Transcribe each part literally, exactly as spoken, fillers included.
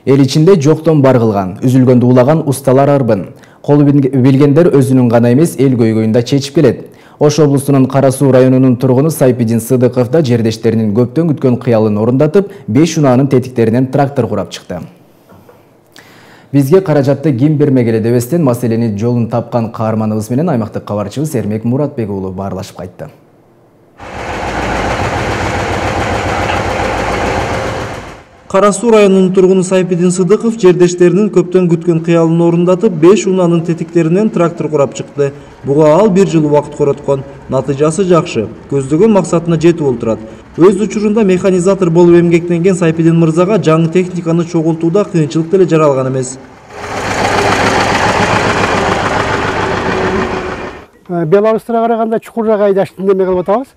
Эл ичинде жоктон бар кылган, үзүлгөндү улаган усталар арбын. Колу билгендер өзүнүн гана эмес, эл көйгөйүн да чечип келет. Ош облусунун Кара Суу районунун тургуну Сайпидин Сыдыков да жердештеринин көптөн күткөн кыялын орундатып, беш унаанын тетиктеринен трактор курап чыкты. Бизге каражатты ким бермегеле дебестен маселени жолун тапкан каарманыбыз менен аймактык кабарчыбыз Эрмек Муратбек уулу баарлашып кайтты. Кара Суу районунун тургуну Сайпидин Сыдыков жердештеринин көптөн күткөн кыялын орундатып, беш унаанын тетиктеринен трактор курап чыкты. Буга ал бир жыл убакыт короткон. Натыйжасы жакшы, көздөгөн максатына жетип олтурат. Өз учурунда механизатор болуп эмгектенген Сайпидин мырзага жаңы техниканы чогултууда кыйынчылык деле жаралган эмес. Беларустарга караганда чукураак айдаштын неме кылып атабыз.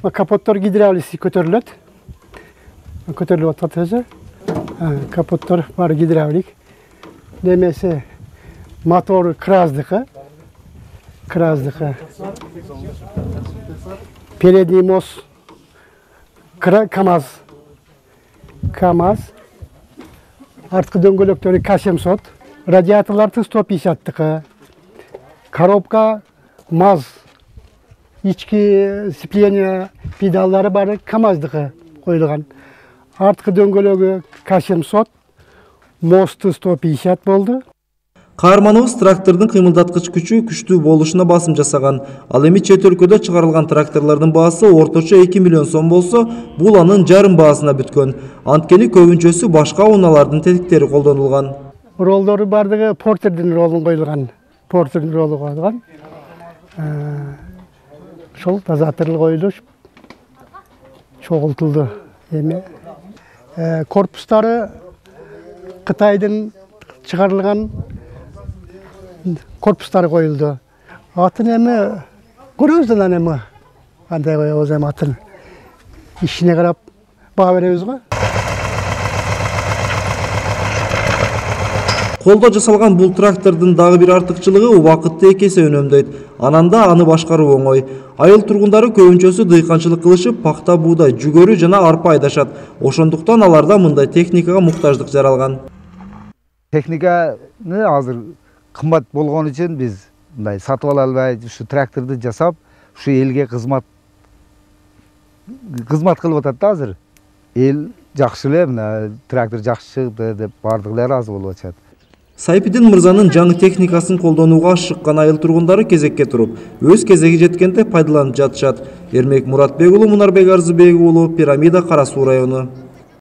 Капоттор гидравлиси көтөрүлөт. Көтөрүлүп атат өзү. Капоттор баары гидравлик. Немеси мотору краздыкы. Краздыкы. Передний мост КамАЗ. КамАЗ. Арткы дөңгөлөктөрү К семьсот. Радиаторлорду сто пятьдесяттыкы. Коробка МАЗ. Ички сцепление педаллары баары КамАЗдыкы коюлган. Арткы дөңгөлөгү К семьсот, мосту сто пятьдесят болду. Каарманыбыз трактордун кыймылдаткыч күчү күчтүү болушуна басым жасаган. Ал эми чет өлкөдө чыгарылган тракторлордун баасы орточо эки миллион сом болсо, бул анын жарым баасына бүткөн. Анткени көбүнчөсү башка унаалардын тетиктери колдонулган. Ролдору бардыгы портердин ролун коюлган. Портердин ролу коюлган. Ошол дозаторлу коюлуп, чогултулду. Эми корпустары Кытайдын чыгарылган корпустары коюлду. Атын эми көрөбүз да эми кандай коебуз эми атын. Ишине карап баа беребиз го. Колдо жасалган бул трактордун дагы бир артыкчылыгы убакытты эки эсе үнөмдөйт. Ананда аны башкаруу оңой. Айыл тургундары көбүнчөсү дыйканчылык кылышып, пакта, буудай, жүгөрү жана арпа айдашат. Ошондуктан аларда мындай техникага муктаждык жаралган. Техниканы азыр кымбат болгон үчүн биз мындай сатып ала албай, ушу тракторду жасап, ушу элге кызмат кызмат кылып атат да азыр. Эл жакшы эле, мына трактор жакшы чыкты деп бардыгы эле ыраазы болуп атышат. Сайпидин мырзанын жаңы техникасын колдонууга ашыккан айыл тургундары кезекке туруп, өз кезеги жеткенде пайдаланып жатышат. Эрмек Муратбек уулу, Мунарбек Арзыбек уулу, Пирамида, Кара Суу району.